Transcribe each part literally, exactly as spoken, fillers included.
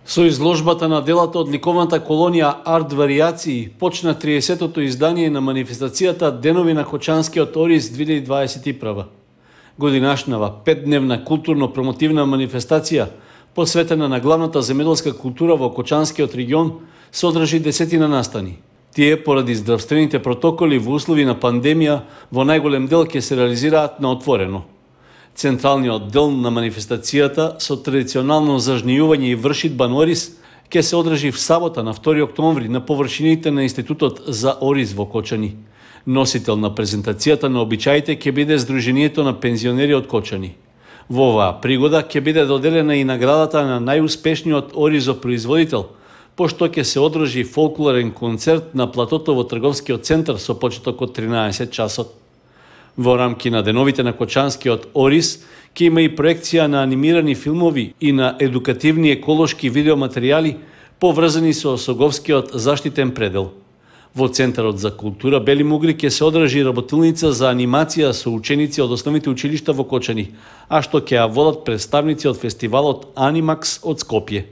Со изложбата на делата од ликовната колонија Арт Варијации почна триесеттото издание на манифестацијата Денови на Кочанскиот ориз две илјади дваесет и прва. Годинашнава петдневна културно-промотивна манифестација посветена на главната земјоделска култура во Кочанскиот регион се одржи десетина настани. Тие поради здравствените протоколи во услови на пандемија во најголем дел ќе се реализираат на отворено. Централниот дел на манифестацијата со традиционално зажнејување и вршидба на ориз ќе се одржи в сабота на втори октомври на површините на Институтот за ориз во Кочани. Носител на презентацијата на обичаите ќе биде Сдруженијето на пензионери од Кочани. Во оваа пригода ќе биде доделена и наградата на најуспешниот оризопроизводител, пошто ќе се одржи фолклорен концерт на платото во трговскиот центар со почеток од тринаесет часот. Во рамки на деновите на Кочанскиот ориз ќе има и проекција на анимирани филмови и на едукативни еколошки видеоматеријали поврзани со Осоговскиот заштитен предел. Во Центарот за култура Бели Мугри ќе се одржи работилница за анимација со ученици од основните училишта во Кочани, а што ќе ја водат представници од фестивалот Анимакс од Скопје.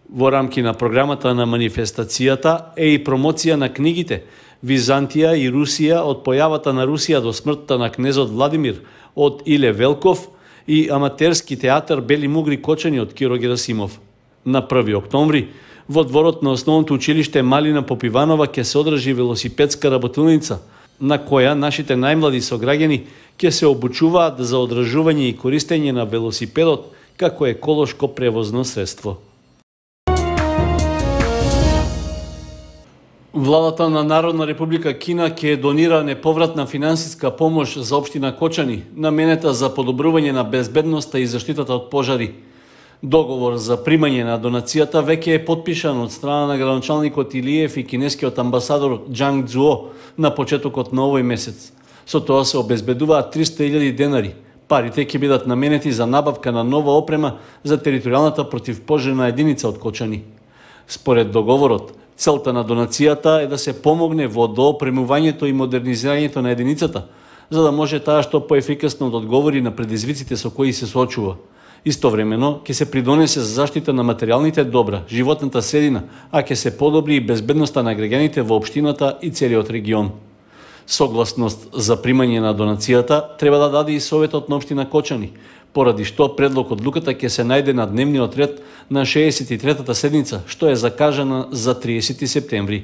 Во рамки на програмата на манифестацијата е и промоција на книгите Византија и Русија од појавата на Русија до смртта на кнезот Владимир од Иле Велков и аматерски театар Бели Мугри Кочани од Киро Герасимов. На први октомври во дворот на основното училиште Малина Попиванова ќе се одржи велосипедска работилница, на која нашите најмлади сограѓани ќе се обучуваат за одржување и користење на велосипедот како еколошко превозно средство. Владата на Народна република Кина ќе донира неповратна финансиска помош за општина Кочани, наменета за подобрување на безбедноста и заштитата од пожари. Договор за примање на донацијата веќе е потпишан од страна на градоначалникот Илиев и кинескиот амбасадор Џанг Цзуо на почетокот на овој месец. Со тоа се обезбедуваат триста илјади денари. Парите ќе бидат наменети за набавка на нова опрема за територијалната противпожарна единица од Кочани. Според договорот, целта на донацијата е да се помогне во доопремувањето и модернизирањето на единицата, за да може таа што поефикасно да одговори на предизвиците со кои се соочува. Истовремено, ќе се придонесе за заштита на материјалните добра, животната средина, а ќе се подобри и безбедноста на граѓаните во општината и целиот регион. Согласност за примање на донацијата треба да даде и Советот на општина Кочани, поради што предлог одлуката ќе се најде на дневниот ред на шеесет и третата седница, што е закажана за триесети септември.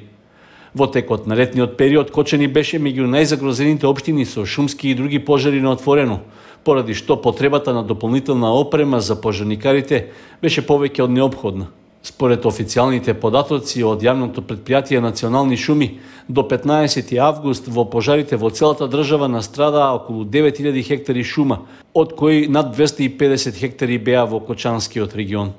Во текот на летниот период Кочани беше меѓу најзагрозените општини со шумски и други пожари на отворено, поради што потребата на дополнителна опрема за пожарникарите беше повеќе од неопходна. Според официјалните податоци од јавното претпријатие Национални шуми, до петнаесети август во пожарите во целата држава настрадаа околу девет илјади хектари шума, од кои над двесте и педесет хектари беа во Кочанскиот регион.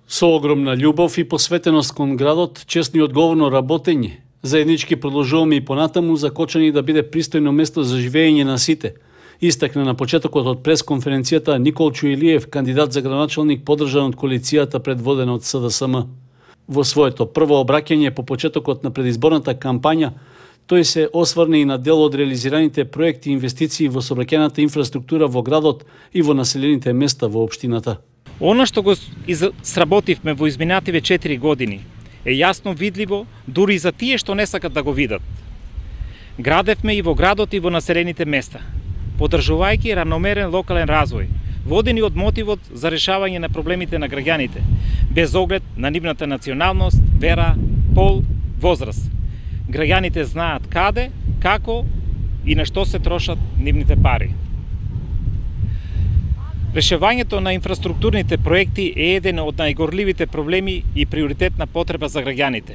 Со огромна љубов и посветеност кон градот, честно и одговорно работење, заеднички продолжуваме и понатаму за Кочани да биде пристојно место за живење на сите, истакна на почетокот од пресконференцијата Николчо Илиев, кандидат за градоначалник поддржан од коалицијата предводена од С Д С М. Во своето прво обраќање по почетокот на предизборната кампања, тој се осврне и на дел од реализираните проекти и инвестиции во сообраќајната инфраструктура во градот и во населените места во општината. Оно што го сработивме во изминативе четири години е јасно видливо дури и за тие што не сакат да го видат. Градевме и во градот и во населените места, поддржувајќи равномерен локален развој, водени од мотивот за решавање на проблемите на граѓаните, без оглед на нивната националност, вера, пол, возраст. Граѓаните знаат каде, како и на што се трошат нивните пари. Решавањето на инфраструктурните проекти е еден од најгорливите проблеми и приоритетна потреба за граѓаните.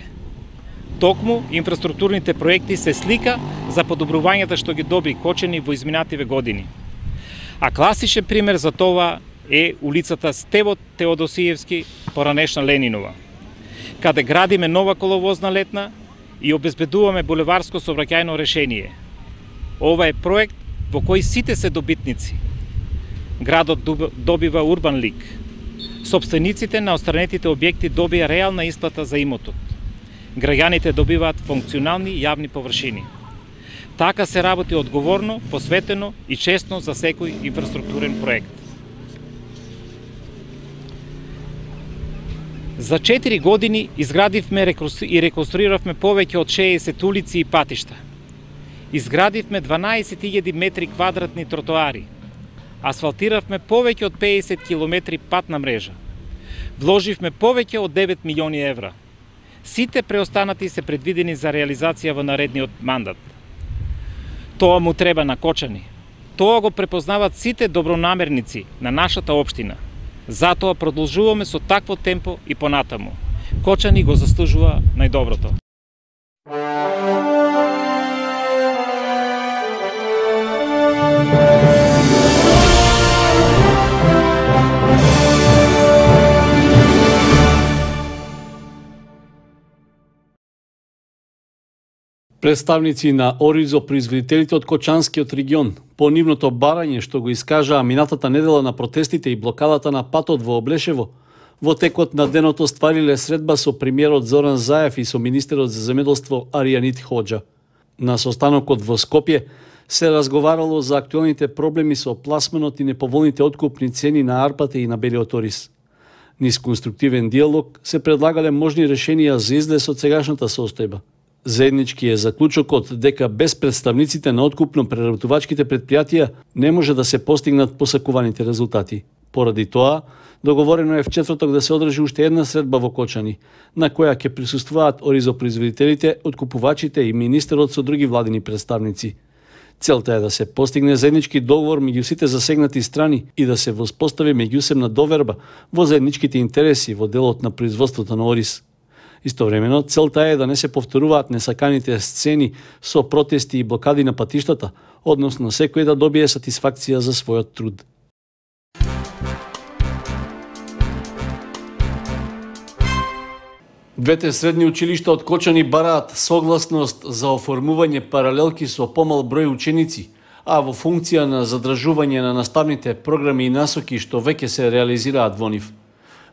Токму, инфраструктурните проекти се слика за подобрувањата што ги добри Кочани во изминативе години. А класичен пример за тоа е улицата Стево Теодосиевски, поранешна Ленинова, каде градиме нова коловозна летна и обезбедуваме булеварско сообраќајно решение. Ова е проект во кој сите се добитници. Градот добива урбан лик, Собствениците на остранетите објекти добија реална исплата за имотот. Граѓаните добиваат функционални јавни површини. Така се работи одговорно, посветено и честно за секој инфраструктурен проект. За четири години изградивме и реконструиравме повеќе од шеесет улици и патишта. Изградивме дванаесет илјади метри квадратни тротоари. Асфалтиравме повеќе од педесет километри патна мрежа. Вложивме повеќе од девет милиони евра. Сите преостанати се предвидени за реализација во наредниот мандат. Тоа му треба на Кочани. Тоа го препознават сите добронамерници на нашата општина. Затоа продолжуваме со такво темпо и понатаму. Кочани го заслужува најдоброто. Представници на Оризо, производителите од Кочанскиот регион, по нивното барање што го искажаа минатата недела на протестите и блокадата на патот во Облешево, во текот на денот оствариле средба со премиерот Зоран Заев и со министерот за земеделство Аријанит Хоџа. На состанокот во Скопје се разговарало за актуелните проблеми со пласманот и неповолните откупни цени на арпата и на белиот ориз. Низ конструктивен диалог се предлагале можни решенија за излез од сегашната состојба. Заеднички е заклучокот дека без представниците на откупно-преработувачките предпријатија не може да се постигнат посакуваните резултати. Поради тоа, договорено е в четврток да се одржи уште една средба во Кочани, на која ќе присуствуваат оризопроизводителите, откупувачите и министерот со други владини представници. Целта е да се постигне заеднички договор меѓу сите засегнати страни и да се воспостави меѓусебна доверба во заедничките интереси во делот на производството на ориз. Истовремено, целта е да не се повторуваат несаканите сцени со протести и блокади на патиштата, односно секој да добие сатисфакција за својот труд. Двете средни училишта од Кочани бараат согласност за оформување паралелки со помал број ученици, а во функција на задржување на наставните програми и насоки што веќе се реализираат во нив.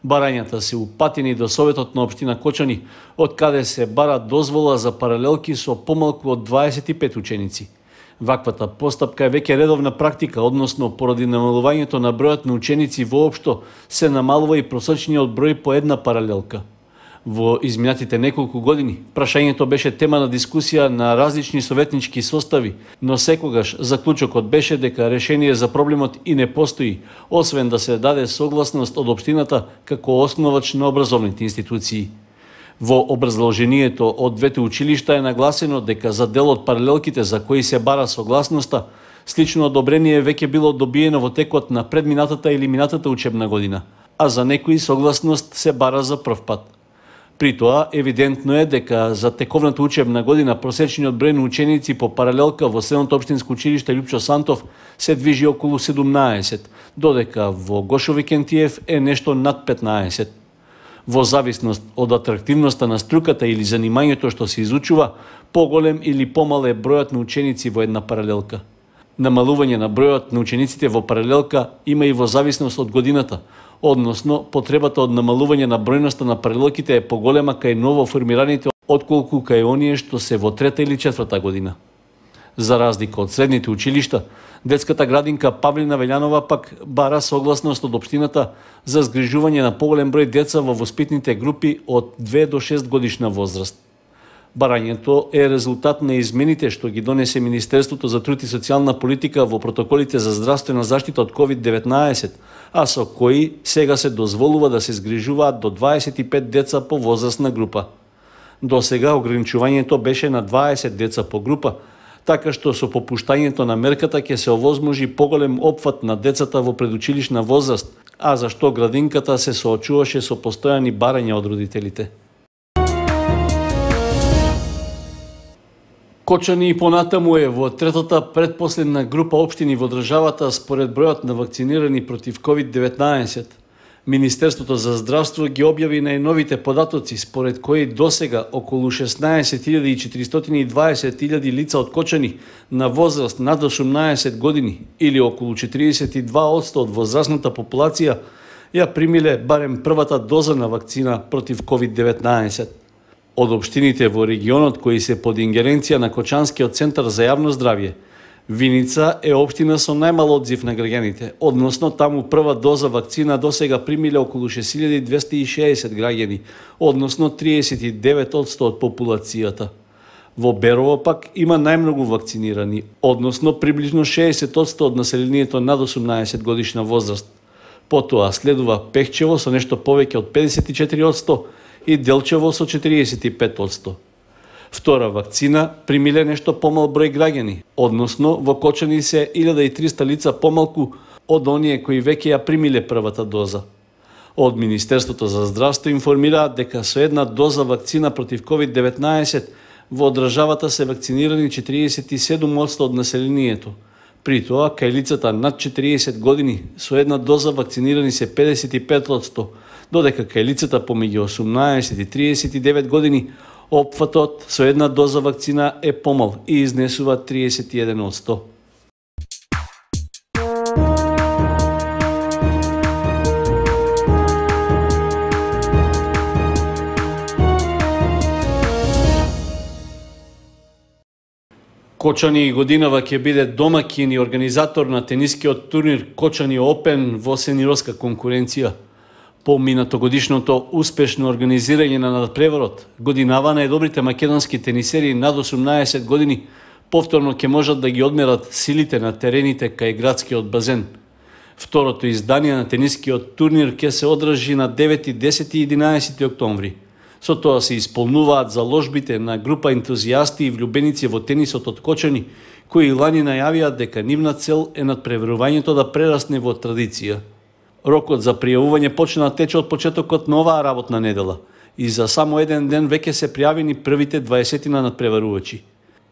Барањата се упатени до Советот на општина Кочани, од каде се бара дозвола за паралелки со помалку од дваесет и пет ученици. Ваквата постапка е веќе редовна практика, односно поради намалувањето на бројот на ученици воопшто се намалува и просечниот број по една паралелка. Во изминатите неколку години, прашањето беше тема на дискусија на различни советнички состави, но секогаш заклучокот беше дека решение за проблемот и не постои, освен да се даде согласност од општината како основач на образовните институции. Во образложението од двете училишта е нагласено дека за дел од паралелките за кои се бара согласноста, слично одобрение веќе било добиено во текот на предминатата или минатата учебна година, а за некои согласност се бара за прв пат. При тоа, евидентно е дека за тековната учебна година просечниот број на ученици по паралелка во Средното општинско училиште Лјупчо Сантов се движи околу седумнаесет, додека во Гошо Викентиев е нешто над петнаесет. Во зависност од атрактивноста на струката или занимањето што се изучува, поголем или помал е бројот на ученици во една паралелка. Намалување на бројот на учениците во паралелка има и во зависност од годината, односно потребата од намалување на бројноста на паралелките е поголема кај ново формираните отколку кај оние што се во трета или четврта година. За разлика од средните училишта, детската градинка Павлина Велјанова пак бара согласност од општината за згрижување на поголем број деца во воспитните групи од две до шест годишна возраст. Барањето е резултат на измените што ги донесе Министерството за труд и социјална политика во протоколите за здравствена заштита од ковид деветнаесет, а со кои сега се дозволува да се згрижуваат до дваесет и пет деца по возрастна група. До сега ограничувањето беше на дваесет деца по група, така што со попуштањето на мерката ќе се овозможи поголем опфат на децата во предучилишна возраст, а зашто градинката се соочуваше со постојани барања од родителите. Кочани и понатаму е во третата предпоследна група општини во државата според бројот на вакцинирани против ковид деветнаесет. Министерството за здравство ги објави најновите податоци според кои досега околу шеснаесет илјади четиристотини и дваесет илјади лица од Кочани на возраст над осумнаесет години или околу четиридесет и два одсто од возрастната популација ја примиле барем првата доза на вакцина против ковид деветнаесет. Од општините во регионот кои се под ингеренција на Кочанскиот центар за јавно здравје, Виница е општина со најмал одзив на граѓаните, односно таму прва доза вакцина досега примиле околу шест илјади двесте и шеесет граѓани, односно триесет и девет одсто од популацијата. Во Берово пак има најмногу вакцинирани, односно приближно шеесет одсто од населението над осумнаесет годишна возраст. Потоа следува Пехчево со нешто повеќе од педесет и четири одсто и Делчево со четириесет и пет одсто. Втора вакцина примиле нешто помал број граѓани, односно во Кочани се илјада и триста лица помалку од оние кои веќе ја примиле првата доза. Од Министерството за здравство информираат дека со една доза вакцина против ковид деветнаесет во државата се вакцинирани четириесет и седум одсто од населението. При тоа, кај лицата над четириесет години со една доза вакцинирани се педесет и пет одсто, додека кај лицата помеѓу осумнаесет и триесет и девет години опфатот со една доза вакцина е помал и изнесува триесет и еден одсто. Кочани годинава ќе биде домаќин и организатор на тенискиот турнир Кочани Опен во сениорска конкуренција. По минатогодишното успешно организирање на надпреварот, годинава најдобрите македонски тенисери над осумнаесет години повторно ќе можат да ги одмерат силите на терените кај градскиот базен. Второто издание на тенискиот турнир ќе се одржи на девети, десети и единаесети октомври. Со тоа се исполнуваат заложбите на група ентузијасти и влюбеници во тенисот од Кочани, кои лани најавија дека нивна цел е надпреварувањето да прерасне во традиција. Рокот за пријавување почна да тече од почетокот на оваа работна недела и за само еден ден веќе се пријавени првите дваесетина надпреварувачи.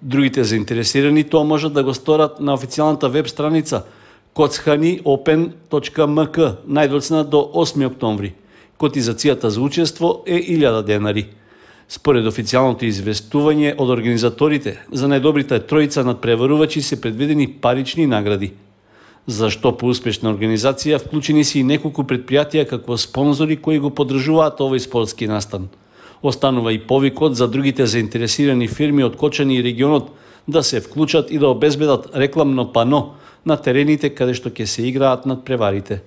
Другите заинтересирани тоа можат да го сторат на официјалната веб страница коцхани опен точка ем ка најдоцна до осми октомври. Котизацијата за учество е илјада денари. Според официјалното известување од организаторите, за најдобрите тројца надпреварувачи се предвидени парични награди. Зашто по успешна организација вклучени се и неколку предпријатија како спонзори кои го поддржуваат овој спортски настан. Останува и повикот за другите заинтересирани фирми од Кочани и регионот да се вклучат и да обезбедат рекламно пано на терените каде што ќе се играат надпреварите.